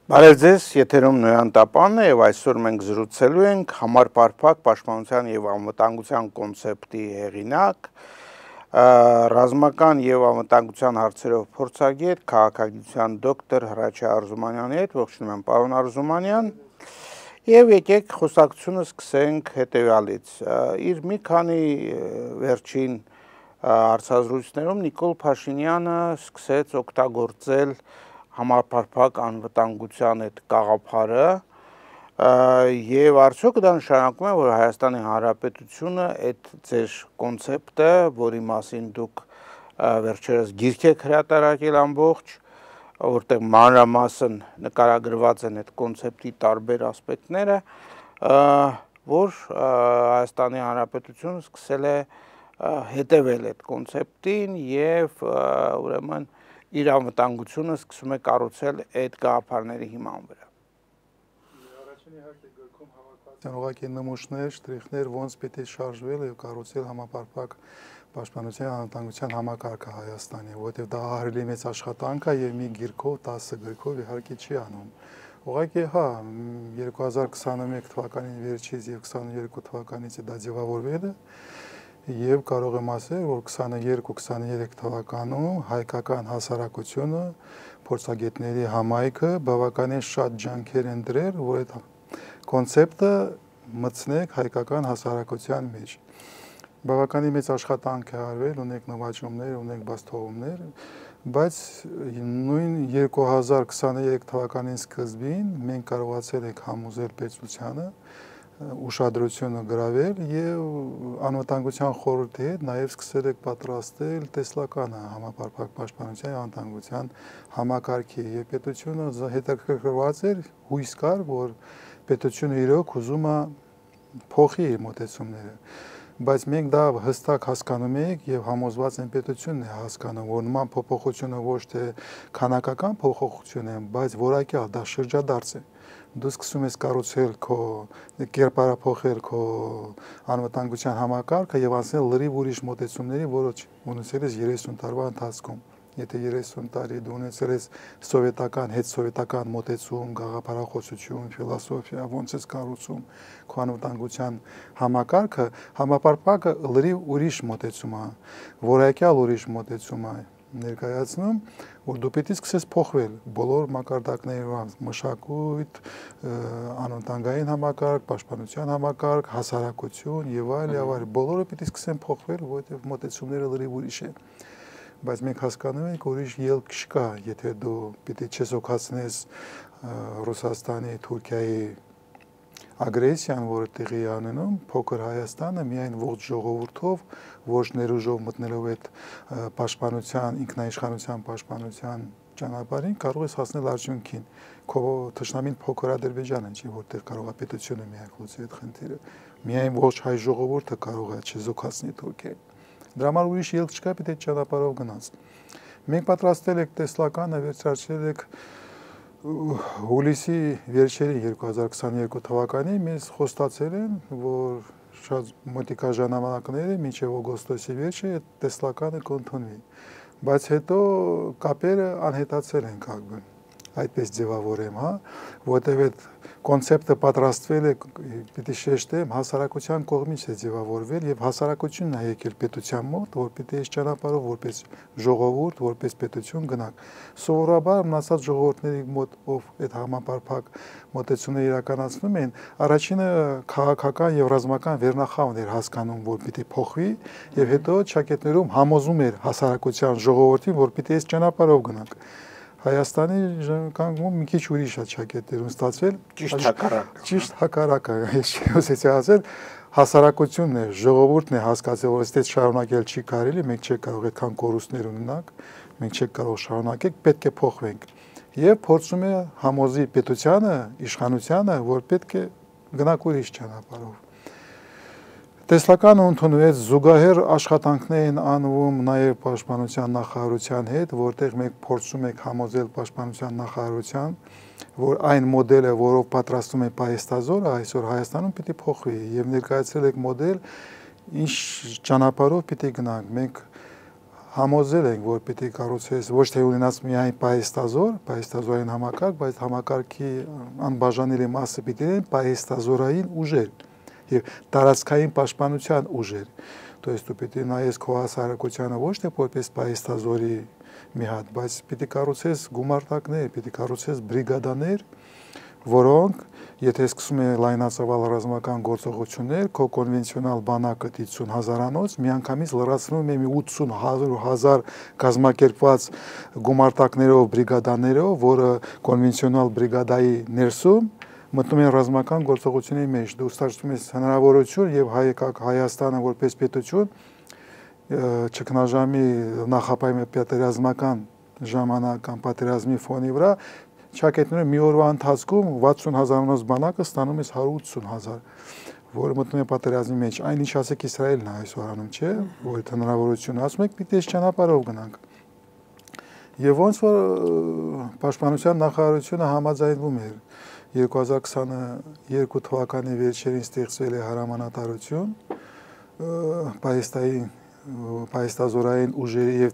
Բարև ձեզ, եթերում Նոյան Տապանն է եւ այսօր մենք զրուցելու ենք համապարփակ պաշտպանության եւ անվտանգության կոնցեպտի հեղինակ, ռազմական եւ անվտանգության հարցերով փորձագետ, քաղաքագիտության դոկտոր Հրաչյա Արզումանյանի հետ, ողջունում եմ պարոն Արզումանյան, եւ եկեք խոսակցությունը սկսենք հետեւյալից։ Իր մի քանի վերջին հարցազրույցներում Նիկոլ Փաշինյանը սկսեց օգտագործել համապարփակ անվտանգության այդ գաղափարը եւ արդյոք դա նշանակում է, որ Հայաստանի Հանրապետությունը այդ ձեր կոնցեպտը, որի մասին դուք վերջերս գիրք եք հրատարակել ամբողջ, որտեղ մանրամասն նկարագրված են այդ կոնցեպտի տարբեր ասպեկտները, որ Հայաստանի Հանրապետությունը սկսել է հետևել այդ կոնցեպտին եւ ուրեմն իր անվտանգությունը սկսում է կառուցել այդ գաղափարների հիման վրա։ Առաջին իհարկե գրքում հավաքված են ուղղակի նմուշներ, շտրիխներ, ոնց պետք է շարժվել եւ կառուցել համապարփակ պաշտպանության անվտանգության համակարգը Հայաստանի, որովհետեւ դա ահռելի մեծ աշխատանք է եւ մի գիրքով, 10 գրքով իհարկե չի անում։ Ուղղակի հա 2021 թվականին վերջից եւ 22 թվականից դա ձևավորվել է եւ կարող եմ ասել, որ 22-23 թվականում հայկական հասարակությունը փորձագետների համայնքը բավականին շատ ջանքեր են դրել, որ այդ կոնցեպտը մտցնեք հայկական հասարակության մեջ։ Բավականին մեծ աշխատանք է արվել, ունենք նվաճումներ, ունենք բացթողումներ, բայց նույն 2023 թվականի սկզբին մենք կարողացել ենք համոզել պետությանը ուշադրությունը գրավել եւ անվտանգության խորհրդի հետ նաեւ սկսել եք պատրաստել տեսլականը համապարփակ պաշտպանության անվտանգության համակարգի եւ պետությունը հետաքրքրված էր հույս կար, որ պետությունը իրոք ուզում է փոխի իր մոտեցումները, բայց մենք դա հստակ հասկանում ենք եւ համոզված են պետությունն է հասկանում, որ նման փոփոխությունը ոչ թե քանակական փոփոխություն է, բայց որակյալ դա շրջադարձ է։ Դու սկսում ես կառուցել քո կերպարափոխել քո անվտանգության համակարգը եւ անցնել լրիվ ուրիշ մոտեցումների, որոնց ունեցել ես 30 տարվա ընթացքում։ Եթե 30 տարի դու ունեցել ես սովետական, հետսովետական մոտեցում, գաղափարախոսություն, ֆիլոսոֆիա, ոնց ես կառուցում քո անվտանգության համակարգը, համապարփակը լրիվ ուրիշ մոտեցում է, որակյալ ուրիշ մոտեցում է ներկայացնում, որ դու պետք է սկսես փոխվել բոլոր մակարդակներով, մշակույթ, անվտանգային համակարգ, պաշտպանության համակարգ, հասարակություն եւ այլ, բոլորը պետք է սկսեն փոխվել, որովհետեւ մոտեցումները լրիվ ուրիշ են։ Բայց մենք հասկանում ենք, որ ուրիշ ելք չկա, եթե դու պետք է չեզոքացնես Ռուսաստանի, Թուրքիայի ագրեսիան, որը տեղի է ունենում, փոքր Հայաստանը միայն ողջ ժողովրդով, ոչ ներուժով մտնելով այդ պաշտպանության, ինքնաիշխանության պաշտպանության ճանապարհին կարող ես հասնել արդյունքին։ Քո թշնամին փոքր Ադրբեջանը չի, որտեղ կարող է պետությունը միակ լուծի այդ խնդիրը։ Միայն ողջ հայ ժողովուրդը կարող է չեզոքացնել Թուրքիային։ Դրա համար ուրիշ ելք չկա, պետք է ճանապարհով գնաց։ Մենք պատրաստել ենք տեսլականը, վերջացրել ենք հուլիսի վերջերին 2022 թվականին մեզ խոստացել են, որ շատ մոտիկա ժամանակները մինչև օգոստոսի վերջը այդ տեսլականը կընդունվի, բայց հետո կապերը անհետացել են կապը, այդպես ձևավորեմ, հա, որտեղ այդ կոնցեպտը պատրաստվել է, պիտի շեշտեմ, հասարակության կողմից է ձևավորվել եւ հասարակությունն է եկել պետության մոտ, որ պիտի այս ճանապարհով որպես ժողովուրդ, որպես պետություն գնանք։ Սովորաբար մնացած ժողովուրդների մոտ, ով այդ համապարփակ մոտեցումները իրականացնում են, առաջինը քաղաքական եւ ռազմական վերնախավն էր հասկանում, որ պիտի փոխվի եւ հետո ճակետներում համոզում էր հասարակության ժողովրդին, որ պիտի այս ճանապարհով գնանք։ Հայաստանի կանգնում մի քիչ ուրիշ է ճակետներում ստացվել, ճիշտ հակառակը, ես չուզեցի ասել, հասարակությունն է, ժողովուրդն է հասկացել, որ այդպես շարունակել չի կարելի, մենք չենք կարող այդքան կորուստներ ունենանք, մենք չենք կարող շարունակել, պետք է փոխվենք։ Եվ փորձում է համոզի պետությանը, իշխանությանը, որ պետք է գնանք ուրիշ ճանապարհով։ Տեսլականը ընդունվեց, զուգահեռ աշխատանքներ են անվում նաև պաշտպանության նախարարության հետ, որտեղ մենք փորձում ենք համոզել պաշտպանության նախարարության, որ այն մոդելը, որով պատրաստում է պահեստազորը, այսօր Հայաստանում պիտի փոխվի եւ ներկայացրել եք մոդել, ինչ ճանապարհով պիտի գնանք։ Մենք համոզել ենք, որ պիտի կառուցես ոչ թե ունենաս միայն պահեստազորային համակարգ, բայց համակարգի անբաժանելի մասը պիտի լինեն պահեստազորային ուժեր եւ տարածքային պաշտպանության ուժեր։ То есть դու պիտի նայես քո հասարակությանը ոչ թե որպես պահեստազորի մի հատ, բայց պիտի կառուցես գումարտակներ, պիտի կառուցես բրիգադաներ, որոնք եթե սկսում է լայնածավալ ռազմական գործողություններ, քո կոնվենցիոնալ բանակը 50,000-անոց միանգամից լրացնում է մի 80,000 կազմակերպված գումարտակներով, բրիգադաներով, որը կոնվենցիոնալ բրիգադայի ներսում մտնում են ռազմական գործողությունների մեջ։ Դու ստացվում ես հնարավորություն եւ Հայաստանը որպես պետություն ճգնաժամի նախապայման պատերազմական ժամանական պատերազմի ֆոնի վրա Չակետներում մի օրվա ընթացքում 60,000-անոց բանակը ստանում է 180,000, որը մտնում է պատերազմի մեջ։ Այն ինչ ասեք Իսրայելն է այսօր անում, չէ՞, որ այդ հնարավորությունը ասում եք, պիտի այս ճանապարհով գնանք։ Եվ ոնց որ Պաշտպանության նախարարությունը համաձայնվում էր 2022 թվականի վերջերին ստեղծվել է հրամանատարություն պահեստազորային ուժերի եւ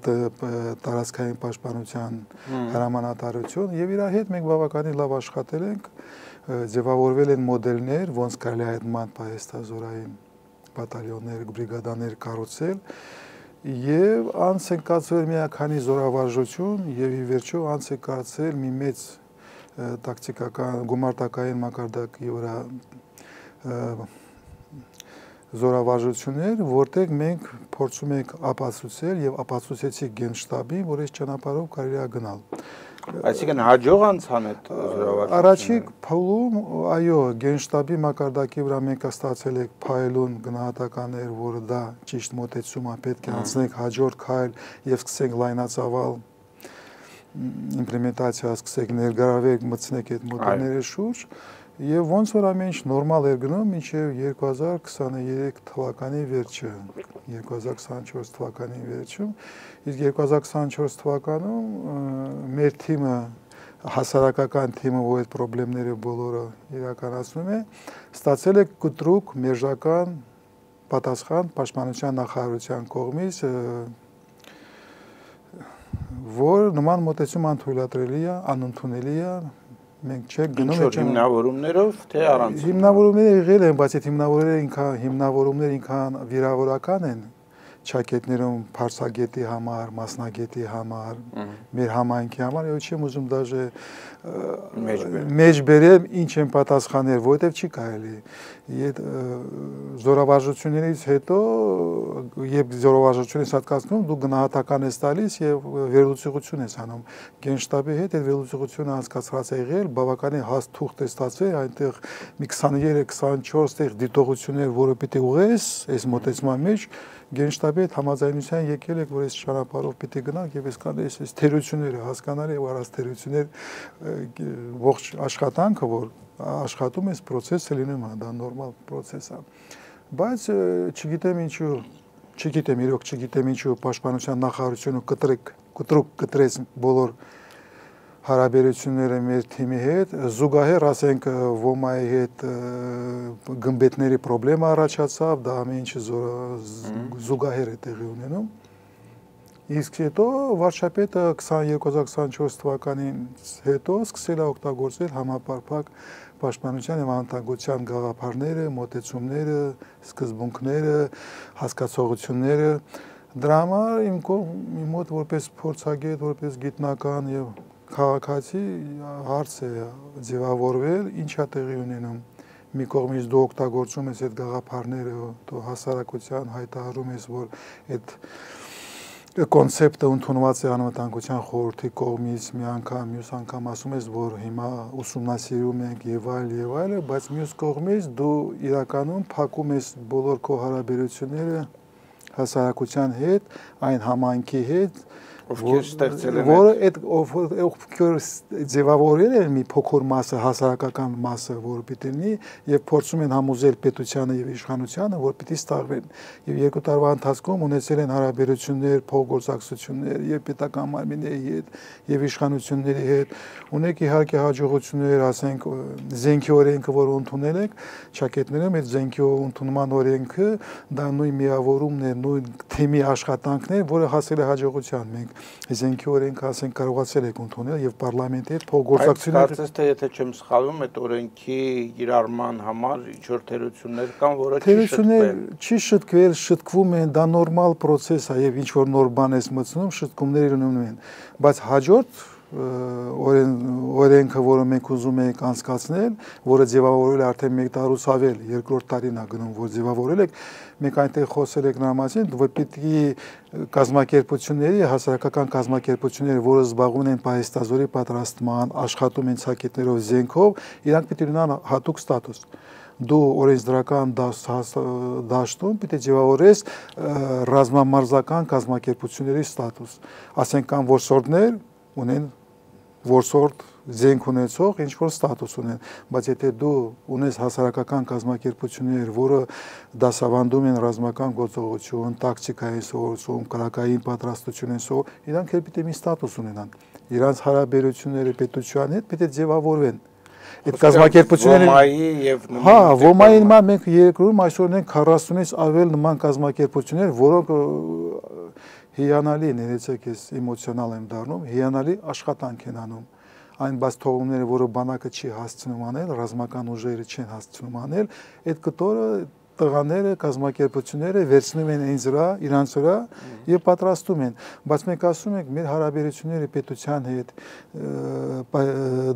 տարածքային պաշտպանության հրամանատարություն եւ իր հետ մենք բավականին լավ աշխատել ենք, ձևավորվել են մոդելներ, ոնց կարելի է այդ ման պահեստազորային բատալյոններ, բրիգադաներ կառուցել եւ անց են կացվել միականի զորավարժություն եւ ի վերջո անց է կացվել մի մեծ տակտիկական գումարտակային մակարդակի վրա զորավարժություններ, որտեղ մենք փորձում ենք ապացուցել եւ ապացուցեցի գենշտաբին, որ այս ճանապարհով կարելի է գնալ։ Այսինքն հաջող անցան այդ զորավարժությունները։ Առաջիկ փուլում, այո, գենշտաբի մակարդակի վրա մենք ստացել ենք փայլուն գնահատականներ, որը դա ճիշտ մոտեցում է, պետք է անցնենք հաջորդ քայլ եւ սկսենք լայնածավալ իմպլեմենտացիա, սկսենք ներգրավել, մտցնենք այդ մոդելների շուրջ։ Եվ ոնց որ ամեն ինչ նորմալ էր գնում մինչև 2023 թվականի վերջը, 2024 թվականի վերջում, իսկ 2024 թվականում մեր թիմը, հասարակական թիմը, որ այդ խնդիրները բոլորը իրականացնում է, ստացել է կտրուկ մերժական պատասխան Պաշտպանության նախարարության կողմից, որ նման մոտեցում անթույլատրելի է, անընդունելի է, մենք չենք գնում այդ հիմնավորումներով թե առանց հիմնավորումները եղել են, բայց այդ հիմնավորումները ինքան վիրավորական են ճակետներում փարսագետի համար, մասնագետի համար, մեր համայնքի համար, եւ չեմ ուզում դաժե մեջ բերեմ ինչ են պատասխանել, որովհետեւ չի կարելի։ Այդ զորավարժություններից հետո եւ զորավարժությունից հատկացնում դու գնահատական ես տալիս եւ վերլուծություն ես անում։ Գենշտաբի հետ այդ վերլուծությունը անցկացրած է եղել, բավականին հաստ թուղթ է ստացվել, այնտեղ մի 23-24 տեղ դիտողություններ, որը պիտի ուղես այս մոտեցման մեջ Գենշտաբի հետ համաձայնության եկել եք, որ այս ճանապարհով պիտի գնանք եւ այսքան այս թերությունները հասկանալի եւ առանց թերություններ ողջ աշխատանքը, որ աշխատում էս process-ը լինում է, դա նորմալ process է։ Բայց չգիտեմ ինչու Պաշտպանության նախարարությունը կտրուկ կտրեց բոլոր հարաբերությունները մեր թիմի հետ, զուգահեռ ասենք ոմայի հետ գմբեթների խնդրեմ առաջացավ, դա ամեն ինչը զուգահեռ է տեղի ունենում։ Իսկ հետո վարչապետը 2024 թվականից հետո սկսել է օգտագործել համապարփակ պաշտպանության եւ անվտանգության գաղափարները, մոտեցումները, սկզբունքները, հասկացողությունները։ Դրա համար իմ մոտ որպես փորձագետ, որպես գիտնական եւ քաղաքացի հարց է ձևավորվել, ինչ է տեղի ունենում։ Մի կողմից դու օգտագործում ես այդ գաղափարները, դու հասարակության հայտարարում ես, որ այդ կոնցեպտը ընդունված է անվտանգության խորհրդի կողմից, մի անգամ, մյուս անգամ ասում ես, որ հիմա ուսումնասիրում ենք եւ այլ, բայց մյուս կողմից դու իրականում փակում ես բոլոր քո հարաբերությունները հասարակության հետ, այն համայնքի հետ, ովքեր ստեղծել են որը այդ ովքեր ձևավորել են մի փոքր մասը, հասարակական մասը, որը պիտի լինի եւ փորձում են համոզել պետությանը եւ իշխանությանը, որ պիտի ստաղվեն եւ 2 տարվա ընթացքում ունեցել են հարաբերություններ, փոխգործակցություններ եւ պետական մարմինների հետ եւ իշխանությունների հետ, ունեք իհարկե հաջողություններ, ասենք զենքի օրենքը, որ ընդունել եք, ճակետներում այդ զենքի ընդունման օրենքը դա նույն միավորումն է, նույն թեմի աշխատանքն է, որը հասել է հաջողության։ Մենք զենքի օրենքը ասենք կարողացել ենք ընդունել եւ պարլամենտի հետ փոխգործակցություններ։ Կարծես թե եթե չեմ սխալվում, այդ օրենքի կիրառման համար ինչ-որ թերություններ կան, որը չի շտկվել, շտկվում են, դա նորմալ process է եւ ինչ որ նոր բան ես մտցնում, շտկումներ ունենում են, բայց հաջորդ օրենքը, որը մենք ուզում ենք անցկացնել, որը ձևավորել է արդեն 1 տարուց ավել, 2-րդ տարին է գնում, որ ձևավորել եք, մենք այնտեղ խոսել ենք նրա մասին, որ պիտի կազմակերպությունների, հասարակական կազմակերպությունները, որը զբաղվում են պահեստազորի պատրաստման, աշխատում են ցակետներով, զենքով, իրանք պիտի ունենան հատուկ ստատուս։ Դու օրենսդրական դաշտում պիտի ձևավորես ռազմամարզական կազմակերպությունների ստատուս։ Ասենք կան որսորդներ, ունեն որսորդ զենք ունեցող ինչ որ ստատուս ունեն, բայց եթե դու ունես հասարակական կազմակերպություններ, որը դասավանդում են ռազմական գործողություն, տակտիկային սովորություն, կրակային պատրաստություն են սովորում, իրանք էլ պիտի մի ստատուս ունենան։ Իրանց հարաբերությունները պետության հետ պիտի ձևավորվեն։ Այդ կազմակերպությունները ՈՄԱ-ի նման մենք երկրում այսօր ունենք 40-ից ավել նման կազմակերպություններ, որոնք հիանալի, ներեցեք ես էմոցիոնալ եմ դառնում, հիանալի աշխատանք են անում։ Այն բաց թողումները, որը բանակը չի հասցնում անել, ռազմական ուժերը չեն հասցնում անել, այդ կտորը տղաները, կազմակերպությունները վերցնում են ինձ վրա, իրանց վրա եւ պատրաստում են, բայց մենք ասում ենք մեր հարաբերությունները պետության հետ,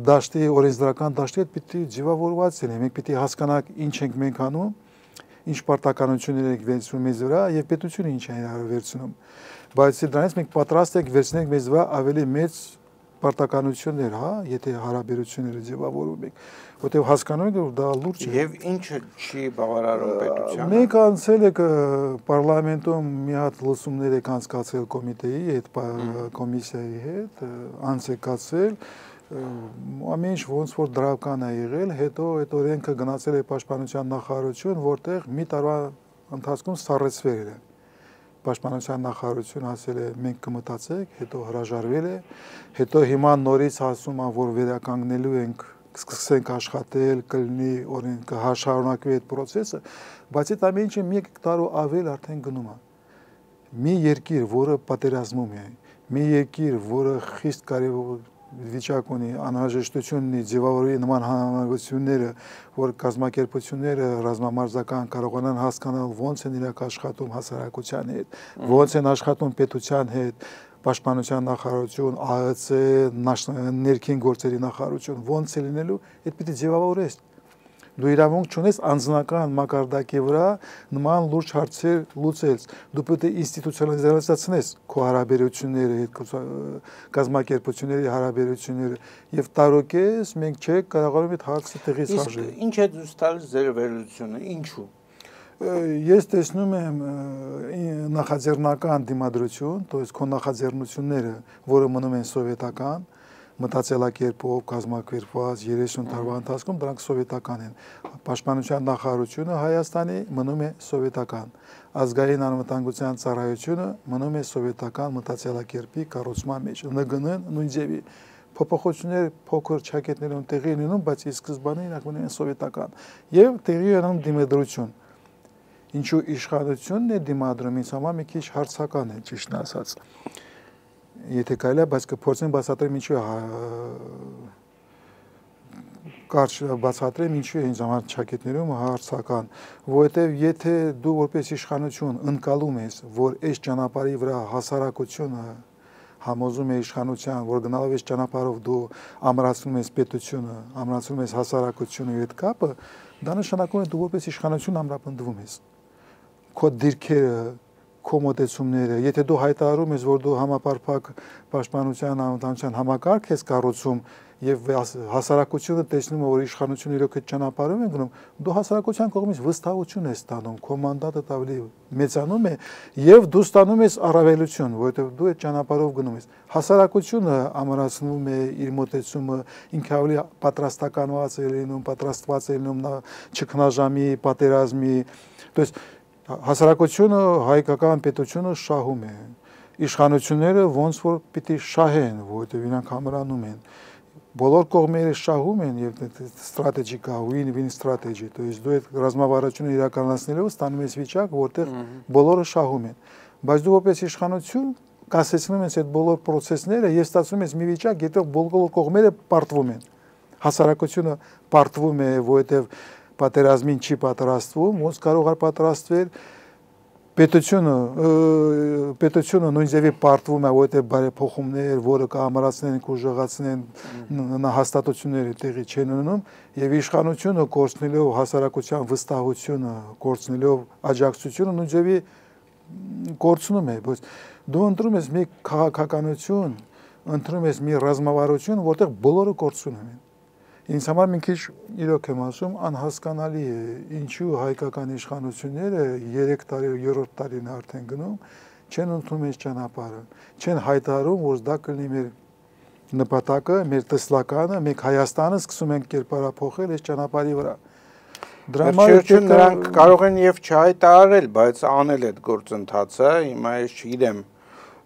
դաշտի, օրենսդրական դաշտի հետ պիտի ձևավորված լինեն, մենք պիտի հասկանանք ինչ ենք մենք անում, ինչ պարտականություններ ենք վերցնում մեզ վրա եւ պետությունը ինչ է վերցնում, բայց դրանից մենք պատրաստ ենք վերցնենք մեզ վրա ավելի մեծ պարտականություններ, հա, եթե հարաբերությունները ձևավորում ենք, որտեղ հասկանում ենք, որ դա լուրջ է։ Եվ ինչը չի բավարարում պետությանը։ Մենք անցել ենք պարլամենտում մի հատ լսումներ եք անցկացրել կոմիտեի հետ, կոմիսիայի հետ, անցեկացել, ամեն ինչ ոնց որ դրական է եղել, հետո այդ օրենքը գնացել է պաշտպանության նախարարություն, որտեղ մի տարվա ընթացքում սառեցվել է։ Պաշտպանության նախարարությունը ասել է մենք կմտածենք, հետո հրաժարվել է, հետո հիմա նորից ասում են, որ վերականգնելու ենք, սկսենք աշխատել, կլինի օրենքը շարունակվի այդ process-ը, բայց այդ ամեն ինչը 1 տարու ավել արդեն գնում է։ Մի երկիր, որը պատերազմում է, մի երկիր, որը խիստ կարևոր վիճակ ունի, անհրաժեշտություն ունի ձևավորի նման հանրությունները, որ կազմակերպությունները ռազմամարզական կարողանան հասկանալ ոնց են իրենք աշխատում հասարակության հետ, ոնց են աշխատում պետության հետ, պաշտպանության նախարարություն, ԱԸՑ, ներքին գործերի նախարարություն, ոնց է լինելու, այդ պիտի ձևավորես։ Դու իրավունք չունես անձնական մակարդակի վրա նման լուրջ հարցեր լուծել, դու պետք է ինստիտուցիոնալիզացնես քո հարաբերությունները, կազմակերպությունների հարաբերությունները եւ տարօկես մենք չենք կարողանում այդ հարցը տեղից հաշվել։ Ինչ է դուս տալիս ձեր վերլուծությունը, ինչու։ Ես տեսնում եմ նախաձեռնական դիմադրություն, то есть քո նախաձեռնությունները, որը մնում են սովետական, մտածելակերպով կազմակերպված 30 տարվա ընթացքում դրանք սովետական են։ Պաշտպանության նախարարությունը Հայաստանի մնում է սովետական։ Ազգային անվտանգության ծառայությունը մնում է սովետական մտածելակերպի կառուցման մեջ։ ՆԳՆ-ն նույն ձևի փոփոխություններ փոքր ճակետներում տեղի ունենում, բայց ի սկզբանե իրանք մնում են սովետական։ Եվ տեղի ունենում դիմադրություն։ Ինչու իշխանությունն է դիմադրում, ինձ համար մի քիչ հարցական է, ճիշտն ասած։ Եթե կարելի է, բայց կփորձեմ բացատրեմ ինչու կարճ բացատրեմ ինչու է ինձ համար ճակետներում հարցական, որովհետև եթե դու որպես իշխանություն ընկալում ես, որ այս ճանապարհի վրա հասարակությունը համոզում է իշխանության, որ գնալով այս ճանապարհով դու ամրացնում ես պետությունը, ամրացնում ես հասարակությունը եւ այդ կապը, դա նշանակում է դու որպես իշխանություն ամրապնդվում ես։ Քո դիրքերը քո մոտեցումները, եթե դու հայտարարում ես, որ դու համապարփակ պաշտպանության անվտանգության համակարգ ես կառուցում, եւ հասարակությունը տեսնում է, որ իշխանությունը իրոք այդ ճանապարհով է գնում, դու հասարակության կողմից վստահություն ես ստանում, քո մանդատը ավելի մեծանում է եւ դու ստանում ես առավելություն, որովհետեւ դու այդ ճանապարհով գնում ես։ Հասարակությունը ամրացնում է իր մոտեցումը, ինքը ավելի պատրաստականված է լինում, պատրաստված է լինում ճգնաժամի, պատերազմի, то есть հասարակությունը հայկական պետությունը շահում է։ Իշխանությունները ոնց որ պիտի շահեն, որովհետև իրանք ամրանում են։ Բոլոր կողմերը շահում են եւ ստրատեգիկա, win-win strategy, то есть դու այդ ռազմավարությունը իրականացնելով ստանում ես վիճակ, որտեղ բոլորը շահում են։ Բայց դու որպես իշխանություն կասեցնում ես այդ բոլոր process-ները եւ ստացվում ես մի վիճակ, եթե բոլոր կողմերը պարտվում են։ Հասարակությունը պարտվում է, որովհետև պատերազմին չի պատրաստվում, ոնց կարող է պատրաստվել պետությունը նույն ձևի պարտվում է, որովհետև բարեփոխումներ, որը կհամարացնեն, կուժեղացնեն հաստատությունները տեղի չեն ունենում, եւ իշխանությունը կորցնելով հասարակության վստահությունը, կորցնելով աջակցությունը նույն ձևի կորցնում է, բայց դու ընտրում ես մի քաղաքականություն, ընտրում ես մի ռազմավարություն, որտեղ բոլորը կորցնում են։ Ինձ համար մի քիչ իրոք եմ ասում, անհասկանալի է, ինչու հայկական իշխանությունները 3 տարի, 3-րդ տարին արդեն գնում, չեն ընդունում այս ճանապարհը, չեն հայտարարում, որ դա կլինի մեր նպատակը, մեր տեսլականը, մենք Հայաստանը սկսում ենք կերպարափոխել այս ճանապարհի վրա։ Դրա համար նրանք կարող են եւ չհայտարարել, բայց անել այդ գործընթացը, հիմա ես չգիտեմ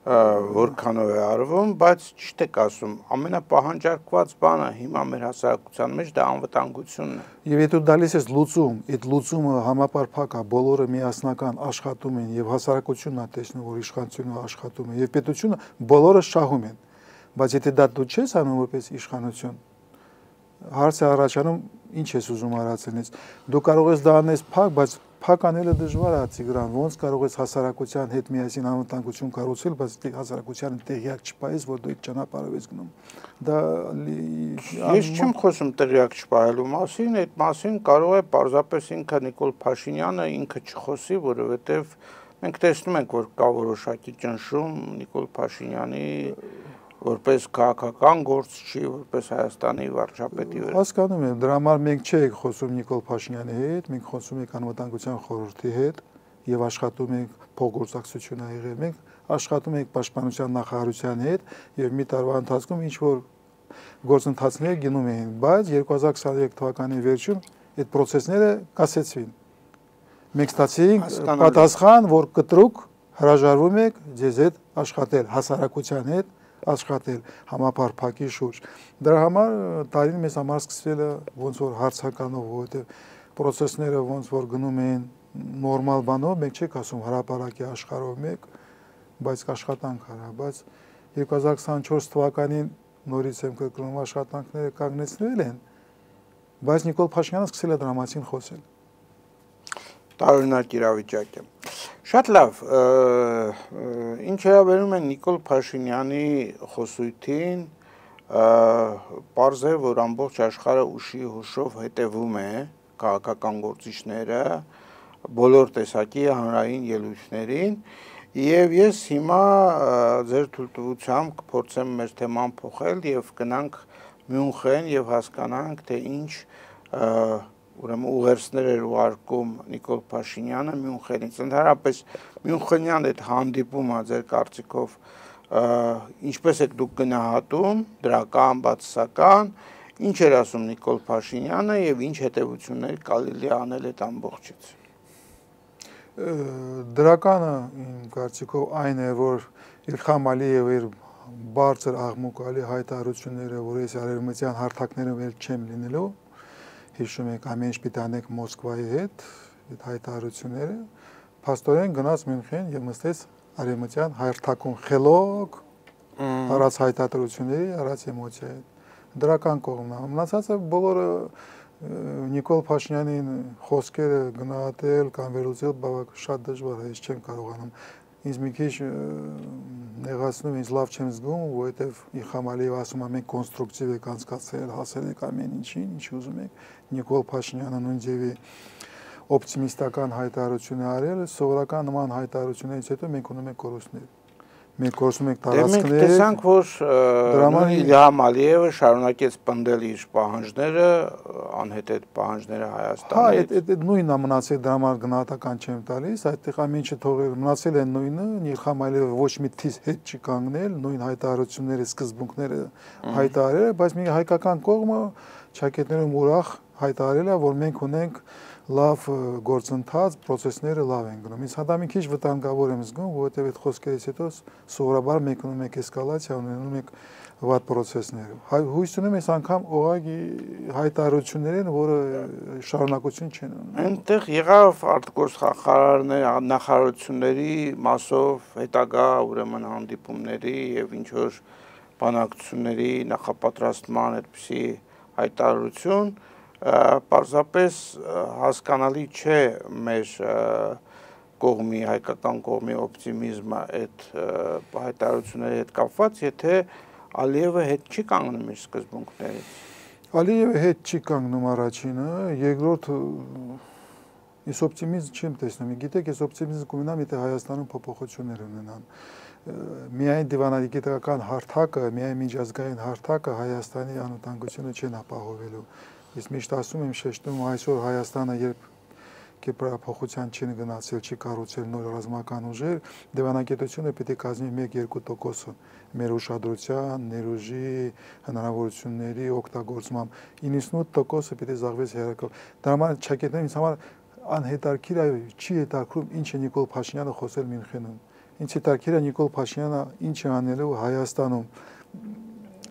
որքանով է արվում, բայց ճիշտ եք ասում, ամենապահանջարկված բանը հիմա մեր հասարակության մեջ դա անվտանգությունն է։ Եվ եթե դու դալիս ես լուծում, այդ լուծումը համապարփակ է, բոլորը միասնական աշխատում են եւ հասարակությունն է տեսնում, որ իշխանությունը աշխատում է եւ պետությունը բոլորը շահում են։ Բայց եթե դա դու չես անում որպես իշխանություն, հարց է առաջանում, ինչ ես ուզում արածենից։ Դու կարող ես դա անես փակ, բայց փակ անելը դժվար է, Տիգրան, ոնց կարող ես հասարակության հետ միասին անվտանգություն կառուցել, բայց հասարակությանը տեղյակ չպահես, որ դու այդ ճանապարհով ես գնում։ Դա ես չեմ խոսում տեղյակ չպահելու մասին, այդ մասին կարող է պարզապես ինքը Նիկոլ Փաշինյանը ինքը չխոսի, որովհետև մենք տեսնում ենք, որ կա որոշակի ճնշում Նիկոլ Փաշինյանի որպես քաղաքական գործչի, որպես Հայաստանի վարչապետի վրա։ Հասկանում եմ, դրա համար մենք չենք խոսում Նիկոլ Փաշինյանի հետ, մենք խոսում ենք անվտանգության խորհրդի հետ եւ աշխատում ենք փոխգործակցություն եղել։ Մենք աշխատում ենք պաշտպանության նախարարության հետ եւ մի տարվա ընթացքում ինչ որ գործընթացներ գնում էին, բայց 2023 թվականի վերջում այդ process-ները կասեցվին։ Մենք ստացինք պատասխան, որ կտրուկ հրաժարվում եք ձեզ հետ աշխատել հասարակության հետ աշխատել համապարփակի շուրջ։ Դրա համար տարին մեզ համար սկսվել է ոնց որ հարցականով, որովհետև process-ները ոնց որ գնում են նորմալ բանով, մենք չենք ասում հրապարակի աշխարհով մեկ, բայց աշխատանք արա, բայց 2024 թվականին նորից եմ կրկնում աշխատանքները կանգնեցվել են, բայց Նիկոլ Փաշինյանը սկսել է դրա մասին խոսել։ Տարօրինակ իրավիճակ է։ Շատ լավ, ինչ վերաբերում է Նիկոլ Փաշինյանի խոսույթին, պարզ է, որ ամբողջ աշխարհը ուշի հուշով հետևում է քաղաքական գործիչները, բոլոր տեսակի հանրային ելույթներին, եւ ես հիմա ձեր թույլտվությամբ կփորձեմ մեր թեման փոխել եւ գնանք Մյունխեն եւ հասկանանք, թե ինչ ուրեմն ուղերձներ էր ուղարկում Նիկոլ Փաշինյանը Մյունխենից։ Ընդհանրապես Մյունխենյան այդ հանդիպումը ձեր կարծիքով ինչպես եք դուք գնահատում, դրական, բացասական, ինչ էր ասում Նիկոլ Փաշինյանը եւ ինչ հետեւություններ կարելի է անել այդ ամբողջից։ Դրականը իմ կարծիքով այն է, որ Իլհամ Ալիևը իր բարձր աղմուկալի հայտարարությունները, որ ես արևմտյան հարթակներով էլ չեմ լինելու, հիշում եք ամեն ինչ պիտի անենք Մոսկվայի հետ, այդ հայտարարությունները, փաստորեն գնաց Մյունխեն եւ նստեց արևմտյան հարթակում խելոք, առած հայտարարությունների, առած էմոցիայի։ Դրական կողմն է։ Մնացածը բոլորը Նիկոլ Փաշինյանին խոսքերը գնահատել կամ վերլուծել բավական շատ դժվար է, ես չեմ կարողանում։ Ինձ մի քիչ նեղացնում, ինձ լավ չեմ զգում, որովհետև Իլհամ Ալիևը ասում է մենք կոնստրուկտիվ եք անցկացրել, հասել եք ամեն ինչին, ինչ ուզում եք։ Նիկոլ Փաշինյանը նույն ձևի օպտիմիստական հայտարարություն է արել, սովորական նման հայտարարություններից հետո մենք ունենք կորուստներ։ մենք գործում ենք տարածքներ։ Մենք տեսանք, որ Իլհամ Ալիևը շարունակեց պնդել իր պահանջները, անհետեթ պահանջները Հայաստանից։ Այդ նույնն է մնացել, դրա համար գնահատական չեմ տալիս, այդտեղ ամեն ինչը թողել մնացել են նույնը, Իլհամ Ալիևը ոչ մի թիզ հետ չի կանգնել, նույն հայտարարությունները, սկզբունքները հայտարարել է, բայց մի հայկական կողմը ճակատներում ուրախ հայտարարել է, որ մենք ունենք լավ գործընթաց, process-ները լավ են գնում։ Ինձ հատա մի քիչ վտանգավոր եմ զգում, որովհետև այդ խոսքերից հետո սովորաբար մենք ունում ենք էսկալացիա, ունում ենք վատ process-ներ։ Հույս ունեմ այս անգամ ուղղակի հայտարարություններ են, որը շարունակություն չեն ունում։ Այնտեղ եղավ նախարարությունների մասով հետագա ուրեմն հանդիպումների եւ ինչ որ բանակցությունների նախապատրաստման այդպիսի հայտարարություն, պարզապես հասկանալի չէ մեր կողմի, հայկական կողմի օպտիմիզմը այդ հայտարարությունների հետ կապված, եթե Ալիևը հետ չի կանգնում իր սկզբունքներից։ Ալիևը հետ չի կանգնում առաջինը, երկրորդ ես օպտիմիզմ չեմ տեսնում։ Գիտեք, ես օպտիմիզմ կունենամ, եթե Հայաստանում փոփոխություններ ունենան։ Միայն դիվանագիտական հարթակը, միայն միջազգային հարթակը Հայաստանի անվտանգությունը չեն ապահովելու։ Ես միշտ ասում եմ, շեշտում այսօր Հայաստանը երբ կերպարափոխության չի գնացել, չի կառուցել նոր ռազմական ուժեր, դիվանագիտությունը պիտի կազմի 1-2% մեր ուշադրության, ներուժի, հնարավորությունների օգտագործմամբ, 98% պիտի զբաղվեց հերակով։ Դրա համար ճակատներն ինձ համար անհետաքրքիր է, չի հետաքրում ինչ է Նիկոլ Փաշինյանը խոսել Մյունխենում։ Ինձ հետաքրքիր է Նիկոլ Փաշինյանը ինչ է անելու Հայաստանում։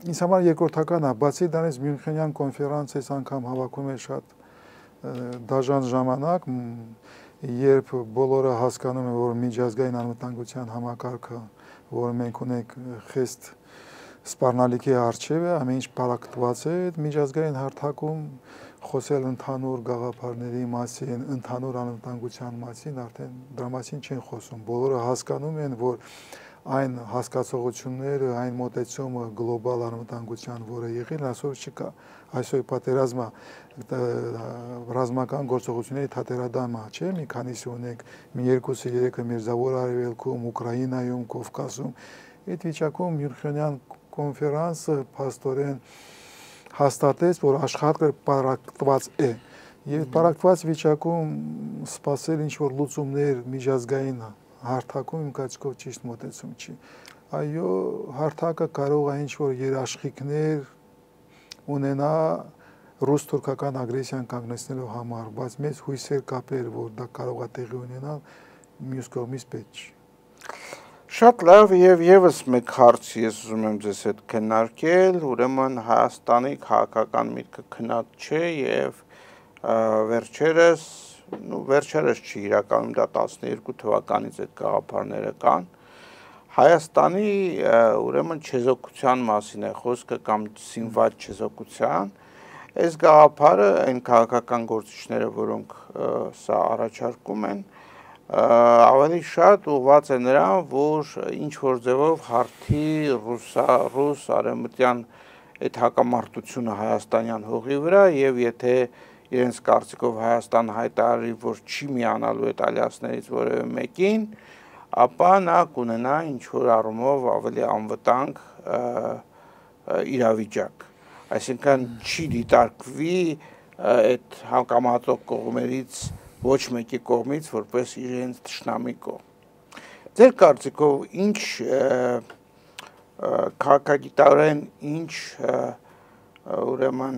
Ինձ համար երկրորդական է, բացի դրանից Մյունխենյան կոնֆերանսից անգամ հավաքում է շատ դաժան ժամանակ, երբ բոլորը հասկանում են, որ միջազգային անվտանգության համակարգը, որ մենք ունենք խիստ սպառնալիքի առջև է, ամեն ինչ պարակտված է այդ միջազգային հարթակում, խոսել ընդհանուր գաղափարների մասին, ընդհանուր անվտանգության մասին, արդեն դրա մասին չեն խոսում։ Բոլորը հասկանում են, որ այն հասկացողությունները, այն մոտեցումը գլոբալ անվտանգության, որը եղել, այսօր չկա։ Այսօր պատերազմը ռազմական գործողությունների թատերադամը, չէ՞, մի քանիսը ունենք, մի 2-3-ը Մերձավոր Արևելքում, Ուկրաինայում, Կովկասում։ Այդ վիճակում Մյունխենյան կոնֆերանսը փաստորեն հաստատեց, որ աշխատը պարակտված է։ Եվ պարակտված վիճակում սպասել ինչ-որ լուծումներ միջազգային հարթակում իմ կարծիքով ճիշտ մոտեցում չի։ Այո, հարթակը կարող է ինչ-որ երաշխիքներ ունենա ռուս-թուրքական ագրեսիան կանգնեցնելու համար, բայց մեծ հույսեր կապեր, որ դա կարող է տեղի ունենալ, մյուս կողմից պետք չի։ Շատ լավ եւ եւս մեկ հարց ես ուզում եմ ձեզ հետ քննարկել, ուրեմն Հայաստանի քաղաքական միտքը քնած չէ եւ վերջերս չի իրականում դա 12 թվականից այդ գաղափարները կան։ Հայաստանի ուրեմն չեզոքության մասին է խոսքը կամ զինված չեզոքության։ Այս գաղափարը այն քաղաքական գործիչները, որոնք սա առաջարկում են, ավելի շատ ուղղված է նրան, որ ինչ որ ձևով հարթի ռուս արևմտյան այդ հակամարտությունը հայաստանյան հողի վրա եւ եթե իրենց կարծիքով Հայաստան հայտարարի, որ չի միանալու այդ ալյանսներից որևէ մեկին, ապա նա կունենա ինչ որ առումով ավելի անվտանգ իրավիճակ։ Այսինքն չի դիտարկվի այդ հակամարտող կողմերից ոչ մեկի կողմից որպես իրենց թշնամի կողմ։ Ձեր կարծիքով ինչ քաղաքագիտարեն ինչ ուրեմն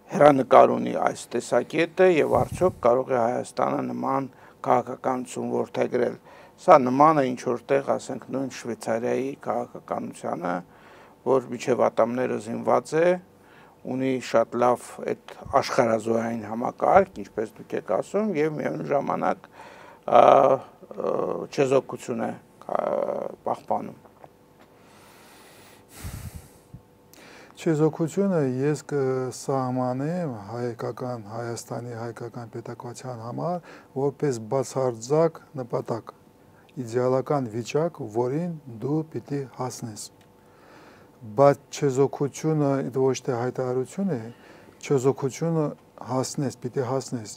հեռանկար ունի այս տեսակետը եւ արդյոք կարող է Հայաստանը նման քաղաքականություն որդեգրել։ Սա նման է ինչ որտեղ, ասենք, նույն Շվեյցարիայի քաղաքականությանը, որ միջև ատամները զինված է, ունի շատ լավ այդ աշխարհազորային համակարգ, ինչպես դուք եք ասում, եւ միևնույն ժամանակ չեզոքություն է պահպանում։ Չեզոքությունը ես կսահմանեմ Հայաստանի հայկական պետականության համար որպես բացարձակ նպատակ, իդեալական վիճակ, որին դու պիտի հասնես։ Բայց չեզոքությունը ոչ թե հայտարարություն է, չեզոքությունը հասնես, պիտի հասնես։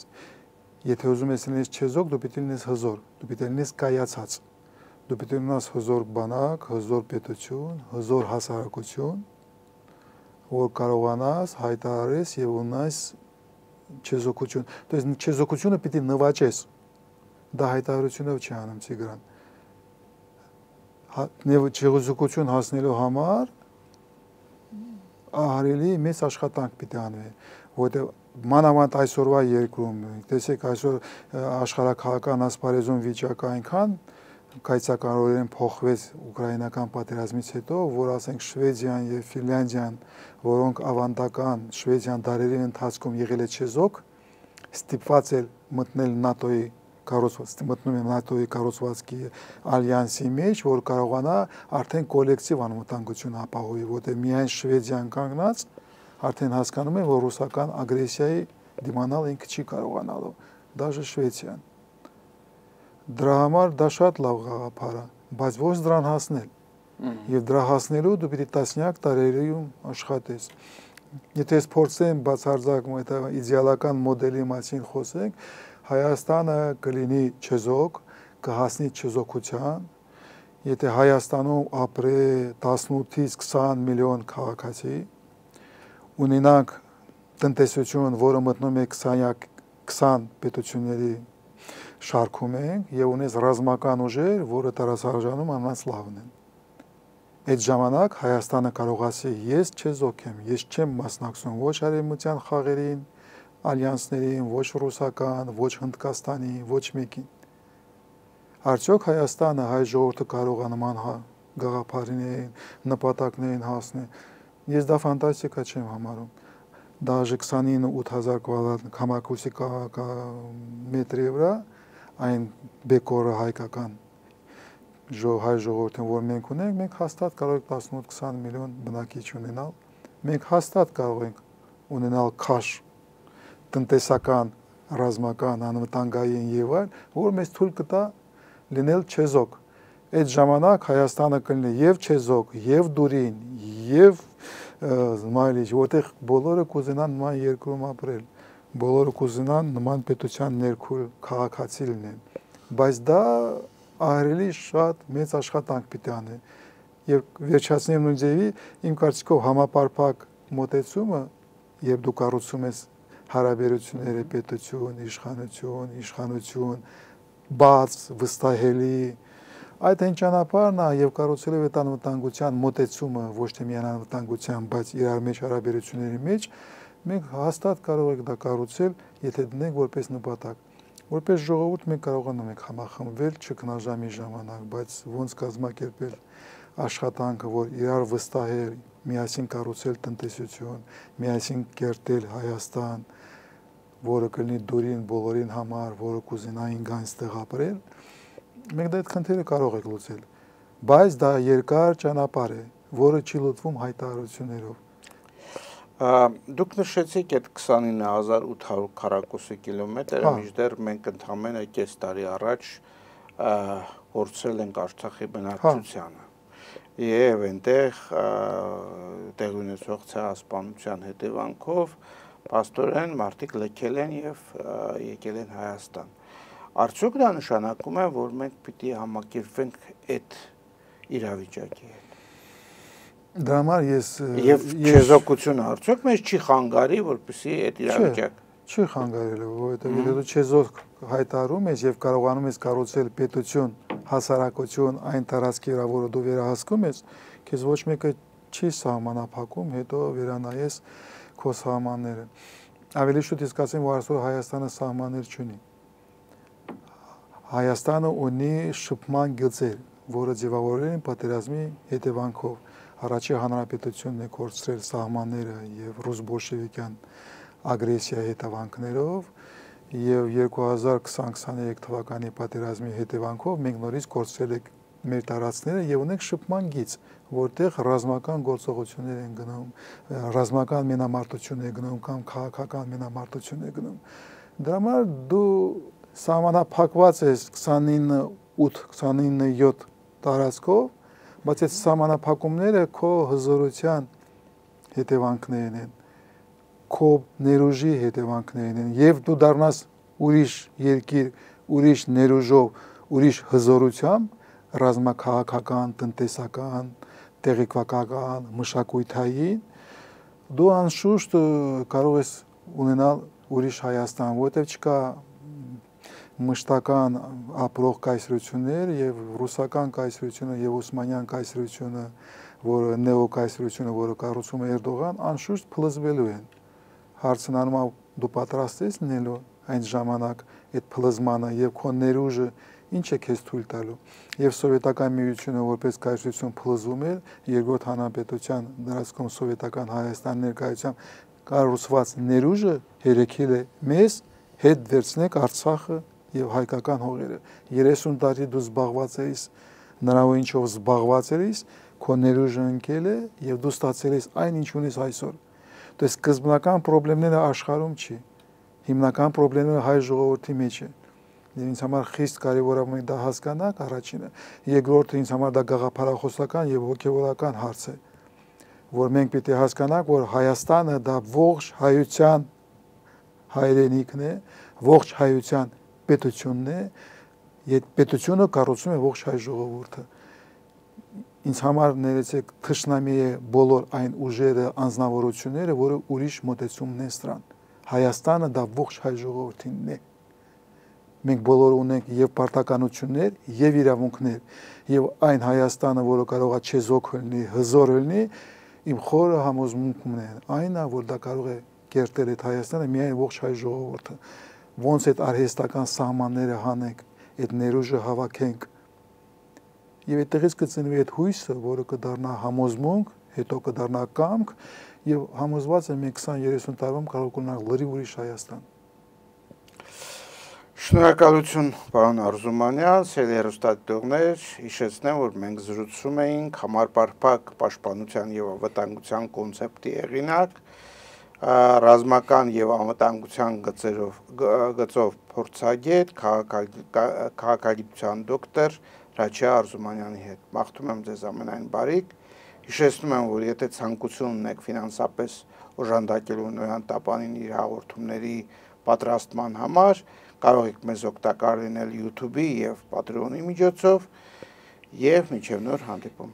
Եթե ուզում ես լինես չեզոք, դու պիտի լինես հզոր, դու պիտի լինես կայացած։ դու պետք է ունենաս հզոր բանակ, հզոր պետություն, հզոր հասարակություն, որ կարողանաս հայտարարես եւ ունենաս չեզոքություն, то есть չեզոքությունը պիտի նվաճես, դա հայտարարությունով չի անում Տիգրան, չեզոքություն հասնելու համար ահարելի մեծ աշխատանք պիտի անվի, որտեղ մանավանդ այսօրվա երկրում, տեսեք այսօր աշխարհաքաղաքական ասպարեզում վիճակը այնքան կայծակարորեն փոխվեց ուկրաինական պատերազմից հետո, որ ասենք Շվեդիան եւ Ֆինլանդիան, որոնք ավանդական Շվեդիան դարերի ընթացքում եղել է չեզոք, ստիպված էր մտնել ՆԱՏՕ-ի կառուցվածքի ալյանսի մեջ, որ կարողանա արդեն կոլեկտիվ անվտանգություն ապահովի, որտեղ միայն Շվեդիան կանգնած արդեն հասկանում է, որ ռուսական ագրեսիայի դիմանալ ինքը չի կարողանալու, դաժե Շվեդիան։ Դրա համար դա շատ լավ գաղափար է, բայց ո՞ց դրան հասնել։ Եվ դրա հասնելու դու պիտի տասնյակ տարերում աշխատես։ Եթե փորձեմ բացարձակ իդեալական մոդելի մասին խոսենք, Հայաստանը կլինի չեզոք, կհասնի չեզոքության, եթե Հայաստանում ապրե 18-ից 20 միլիոն քաղաքացի, ունենանք տնտեսություն, որը մտնում է 20 պետությունների շարքում ենք եւ ունես ռազմական ուժեր, որը տարածաշրջանում անոնց լավն են։ Այդ ժամանակ Հայաստանը կարող ասի, ես չեզոք եմ, ես չեմ մասնակցում ոչ արևմտյան խաղերին, ալյանսներին, ոչ ռուսական, ոչ Հնդկաստանի, ոչ մեկին։ Արդյոք Հայաստանը հայ ժողովուրդը կարող է նման գաղափարին, նպատակներին հասնել։ Ես դա ֆանտաստիկա չեմ համարում։ Դաժե 29-8000 կվադրատ համակարգի մետրի վրա այն բեկորը հայկական հայ ժողովրդին, որ մենք ունենք, մենք հաստատ կարող ենք 18-20 միլիոն բնակիչ ունենալ։ Մենք հաստատ կարող ենք ունենալ քաշ տնտեսական, ռազմական, անվտանգային եւ այլ, որ մեզ թույլ կտա լինել չեզոք։ Այդ ժամանակ Հայաստանը կլինի եւ չեզոք, եւ դուրին, եւ զմայլիչ, որտեղ բոլորը կուզենան նման երկրում ապրել, բոլորը կուզենան նման պետության ներքո քաղաքացի լինեն, բայց դա ահրելի շատ մեծ աշխատանք պիտի անի։ Եվ վերջացնեմ նույն ձևի, իմ կարծիքով համապարփակ մոտեցումը, երբ դու կառուցում ես հարաբերությունները պետություն, իշխանություն, բաց, վստահելի, այդ այն ճանապարհն է եւ կառուցելու այդ անվտանգության մոտեցումը, ոչ թե միայն անվտանգության, բայց իրար մեջ հարաբերությունների մեջ, մենք հաստատ կարող ենք դա կառուցել, եթե դնենք որպես նպատակ։ Որպես ժողովուրդ մենք կարողանում ենք համախմբվել չքնաժամի ժամանակ, բայց ոնց կազմակերպել աշխատանքը, որ իրար վստահել, միասին կառուցել տնտեսություն, միասին կերտել Հայաստան, որը կլինի դուրին բոլորին համար, որը կուզենային գան այստեղ ապրել, մենք դա այդ խնդիրը կարող ենք լուծել, բայց դա երկար ճանապարհ է, որը չի լուծվում հայտարարություններով։ Դուք նշեցիք այդ 29800 քառակուսի կիլոմետրը, մինչդեռ մենք ընդամենը կես տարի առաջ փորձել ենք Արցախի բնակչությանը։ Եվ այնտեղ տեղ ունեցող ցեղասպանության հետևանքով պաստորեն մարդիկ լքել են եւ եկել են Հայաստան։ Արդյոք դա նշանակում է, որ մենք պիտի համակերպվենք այդ իրավիճակի հետ։ Դրա համար ես եւ չեզոքությունը արդյոք մեզ չի խանգարի, որպեսզի այդ իրավիճակը չի խանգարելու, որովհետեւ եթե դու չեզոք հայտարարում ես եւ կարողանում ես կառուցել պետություն, հասարակություն այն տարածքի վրա, որը դու վերահսկում ես, քեզ ոչ մեկը չի սահմանափակում, հետո վերանայես քո սահմանները։ Ավելի շուտ իսկ ասեմ, որ այսօր Հայաստանը սահմաններ չունի։ Հայաստանը ունի շփման գծեր, որը ձևավորել են պատերազմի հետևանքով։ Առաջի հանրապետությունն է կորցրել սահմանները եւ ռուս-բոլշևիկյան ագրեսիայի հետևանքներով եւ 2020-23 թվականի պատերազմի հետևանքով մենք նորից կորցրել ենք մեր տարածքները եւ ունենք շփման գիծ, որտեղ ռազմական գործողություններ են գնում, ռազմական մենամարտություն է գնում կամ քաղաքական մենամարտություն է գնում։ Դրա համար դու սահմանափակված ես 29-7 տարածքով, բայց այդ սահմանափակումները քո հզորության հետևանքներն են, քո ներուժի հետևանքներն են, եւ դու դառնաս ուրիշ երկիր, ուրիշ ներուժով, ուրիշ հզորությամբ, ռազմաքաղաքական, տնտեսական, տեղեկատվական, մշակութային, դու անշուշտ կարող ես ունենալ ուրիշ Հայաստան, որտեղ չկա մշտական ապրող կայսրություններ եւ ռուսական կայսրությունը եւ օսմանյան կայսրությունը, որը նեոկայսրությունը, որը կառուցում է Էրդողան, անշուշտ փլզվելու են։ Հարցն անում է դու պատրաստ ես լինելու այն ժամանակ այդ փլզմանը եւ քո ներուժը ինչ է քեզ թույլ տալու։ Եվ սովետական միությունը որպես կայսրություն փլզում էր երկրորդ հանրապետության դրացքում սովետական Հայաստան ներկայությամբ կառուցված ներուժը հերեկել է մեզ հետ վերցնեք Արցախը եւ հայկական հողերը 30 տարի դու զբաղված ես նրանով ինչով զբաղված ես քո ներուժը ընկել է եւ դու ստացել ես այն ինչ ունես այսօր դու սկզբնական խնդիրները աշխարհում չի հիմնական խնդիրները հայ ժողովրդի մեջ է եւ ինձ համար խիստ կարեւոր է մենք դա հասկանանք առաջինը երկրորդը ինձ համար դա գաղափարախոսական եւ հոգեվորական հարց է որ մենք պիտի հասկանանք որ Հայաստանը դա ողջ հայության հայրենիքն է ողջ հայության պետությունն է, այդ պետությունը կառուցում է ողջ հայ ժողովուրդը։ Ինձ համար ներեցեք թշնամի է բոլոր այն ուժերը, անձնավորությունները, որը ուրիշ մոտեցումն են սրան։ Հայաստանը դա ողջ հայ ժողովրդինն է։ Մենք բոլորը ունենք եւ պարտականություններ, եւ իրավունքներ, եւ այն Հայաստանը, որը կարող է չեզոք լինի, հզոր լինի, իմ խորը համոզմունքն է, այն է, որ դա կարող է կերտել այդ Հայաստանը միայն ողջ հայ ժողովուրդը։ Ոնց այդ արհեստական սահմանները հանենք, այդ ներուժը հավաքենք եւ այդտեղից կծնվի այդ հույսը, որը կդառնա համոզմունք, հետո կդառնա կամք եւ համոզված եմ 20-30 տարում կարող կունենալ լրիվ ուրիշ Հայաստան։ Շնորհակալություն պարոն Արզումանյան, սիրելի հեռուստադիտողներ, հիշեցնեմ, որ մենք զրուցում էինք համապարփակ պաշտպանության եւ անվտանգության կոնցեպտի հեղինակ ռազմական եւ անվտանգության գծով փորձագետ, քաղաքագիտության դոկտոր Ռաչա Արզումանյանի հետ։ Մաղթում եմ ձեզ ամենայն բարիք։ Հիշեցնում եմ, որ եթե ցանկություն ունեք ֆինանսապես օժանդակելու Նոյան Տապանին իր հաղորդումների պատրաստման համար, կարող եք մեզ օգտակար լինել YouTube-ի եւ Patreon-ի միջոցով եւ մինչեւ նոր հանդիպում։